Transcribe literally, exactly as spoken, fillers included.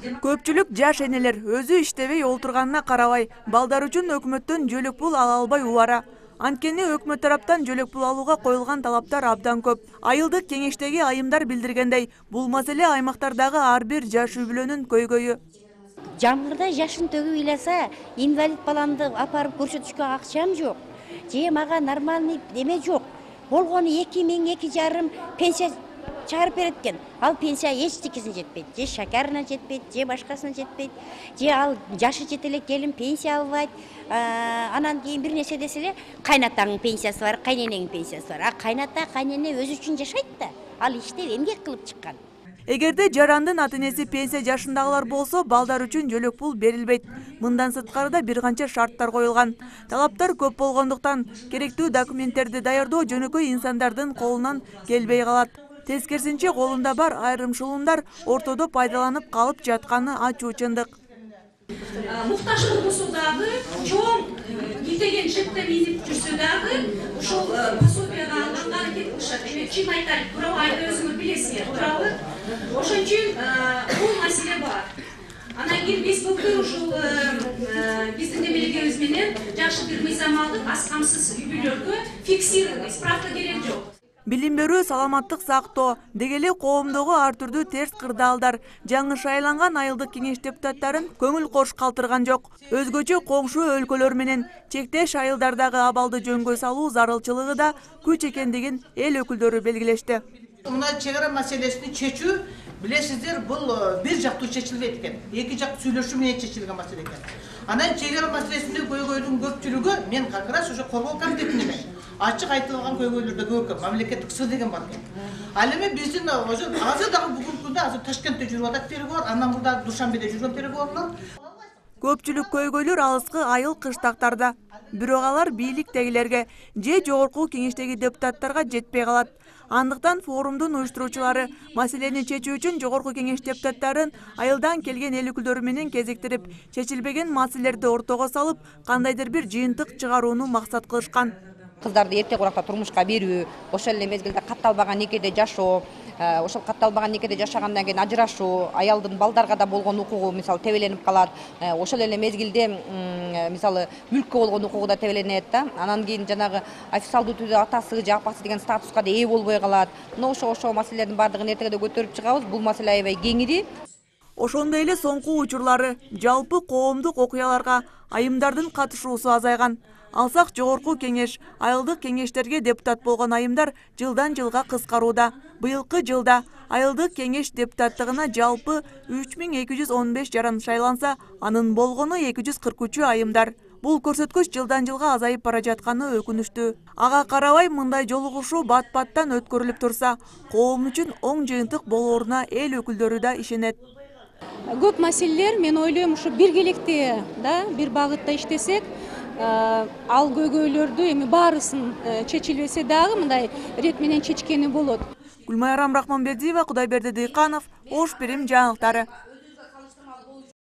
Көпчүлүк жаш энелер өзү иштебей олтурганына карабай, балдар үчүн өкмөттөн жөлөк пул ала албай убара. Анткени өкмөт тараптан жөлөк пул алууга коюлган талаптар абдан көп. Айылдык кеңештеги айымдар билдиргендей, бул маселе аймактардагы ар бир жаш үй бүлөнүн көйгөйү. Жамгырда жашын төгүп ыйласа, инвалид баламды апарып көрсөтүшкө акчам жок. Же мага нормальный эме жок. Болгону эки миң, эки жарым пенсия чыгарып берет экен. Ал пенсия эчтекесине жетпейт. Же шакарына жетпейт, же башкасына жетпейт. Же ал жашы жете эле келин пенсия албайт. Анан кийин бир нерсе десе эле кайнатаңдын пенсиясы бар, кайненеңдин пенсиясы бар. А кайната, кайнене өзү үчүн жашайт да. Ал иштеп эмгек кылып чыккан. Эгерде жарандын ата-энеси пенсия жашындагылар болсо, балдар үчүн жөлөк пул берилбейт. Мындан сырткары да бир канча шарттар коюлган. Талаптар көп болгондуктан керектүү документтерди даярдоо жөнөкөй инсандардын колунан келбей калат. Тескерисинче колунда бар айрым шылымдар ортодо пайдаланып калып жатканы ачуу чындык. Муктаждык болсо дагы, чоң китеген жепте минип жүрсө дагы, ошол пособияга алганга аракет кылышат. Чын айтайын, туурабы өзүңөр билесиңер, туурабы? Ошон үчүн бул маселе бар. Анан кийин биз былтыр ушул биздин демелегебиз менен жакшы бир мыйзам алдык, аз камсыз үй бүлөлөргө фиксированный справка керек жок. Билим берүү, саламаттык сактоо, деги эле коомдогу ар түрдүү терс кырдаалдар жаңы шайланган айылдык кеңеш депутаттарын көңүл кош калтырган жок. Өзгөчө коңшу өлкөлөр менен чектеш айылдардагы абалды жөнгө салуу зарылчылыгы да күч экендигин эл өкүлдөрү белгилешти. Мына чек ара маселесин чечүү, билесиздер, бул бир жактуу чечилбейт экен. Эки жак сүйлөшүү менен чечилген маселе экен. Анан чек ара маселесинде көйгөйдүн көпчүлүгү мен как раз ошо коргоо комитетинде ачык айтылган көйгөйлөрдө көп мамлекеттик сыр деген бар экен. Ал эми биздин ошо азыр дагы бүгүнкү күндө азыр Ташкентте жүрүп атат переговор, андан мурда Душанбеде жүргөн переговорлор. Көпчүлүк көйгөйлөр алыскы айыл кыштактарда. Бирок алар бийликтегилерге же жогорку кеңештеги депутаттарга жетпей калат. Андыктан форумдун уюштуруучулары маселени чечүү үчүн жогорку кеңеш депутаттарын айылдан келген эл өкүлдөрү менен кезиктирип, чечилбеген маселелерди ортого салып, кандайдыр бир жыйынтык чыгарууну максат кылышкан. Кыздарды эрте куракта турмушка берүү, ошол эле мезгилде катталбаган некеде жашоо, ошол катталбаган некеде жашагандан кийин ажырашуу, аялдын балдарга да болгон укугу мисалы тебеленип калат. Ошол эле мезгилде мисалы мүлккө болгон укугу да тебеленет да. Анан кийин жанагы официалдуу түрдө атасы же апасы деген статуска да ээ болбой калат. Мына ошо ошо маселелердин баардыгын эртеге да көтөрүп чыгабыз. Бул маселе аябай кеңири. Ошондой эле соңку учурлары жалпы коомдук окуяларга айымдардын катышуусу азайган. Алсак жогорку кеңеш, айылдык кеңештерге депутат болгон айымдар жылдан жылга кыскарууда. Быйылкы жылда айылдык кеңеш депутаттыгына жалпы үч миң эки жүз он беш жаран шайланса, анын болгону эки жүз кырк үчү айымдар. Бул көрсөткүч жылдан жылга азайып бара жатканы өкүнүштүү. Ага карабай мындай жолугушуу бат-баттан өткөрүлүп турса, коом үчүн оң жыйынтык болооруна эл өкүлдөрү да ишенет. Көп маселелер, мен ойлойм, ушу биргеликте да бир багытта иштесек, ал көйгөйлөрдү эми баарысын чечилбесе дагы мындай рет менен чечкени болот. Гүлмайрам Рахманбердиева, Кудайберди Дыйканов, Ош Бирим жаңылыктары.